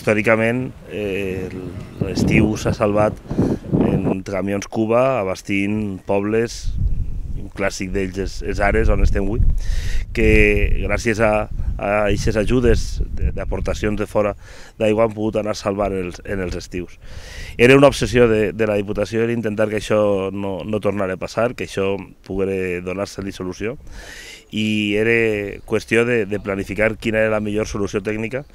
històricament l'estiu s'ha salvat en camions Cuba abastint pobles, un clàssic d'ells és Ares, on estem avui, que gràcies a aquestes ajudes d'aportacions de fora d'aigua han pogut anar salvant en els estius. Era una obsessió de la Diputació era intentar que això no tornara a passar, que això pogués donar-se-li solució, i era qüestió de planificar quina era la millor solució tècnica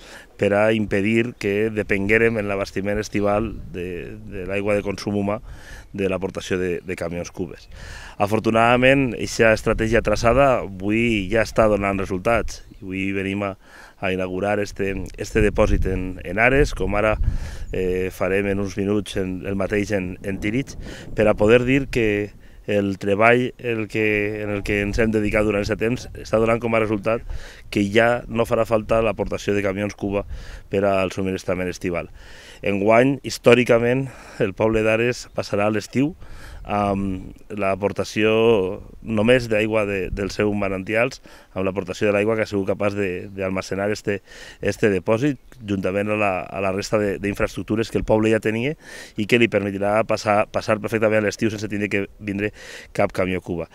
per a impedir que depenguérem en l'abastiment estival de l'aigua de consum humà de l'aportació de camions cubes. Afortunadament, aquesta estratègia traçada avui ja està donant resultats. Avui venim a inaugurar este depòsit en Ares, com ara farem en uns minuts el mateix en Tírig, per a poder dir que el treball en el que ens hem dedicat durant aquest temps està donant com a resultat que ja no farà falta l'aportació de camions Cuba per al subministrament estival. Enguany, històricament, el poble d'Ares passarà l'estiu amb l'aportació només d'aigua dels seus manantials, amb l'aportació de l'aigua que ha sigut capaç d'almacenar este depòsit, juntament a la resta d'infraestructures que el poble ja tenia i que li permetirà passar perfectament l'estiu sense tenir que vindre cap camió Cuba.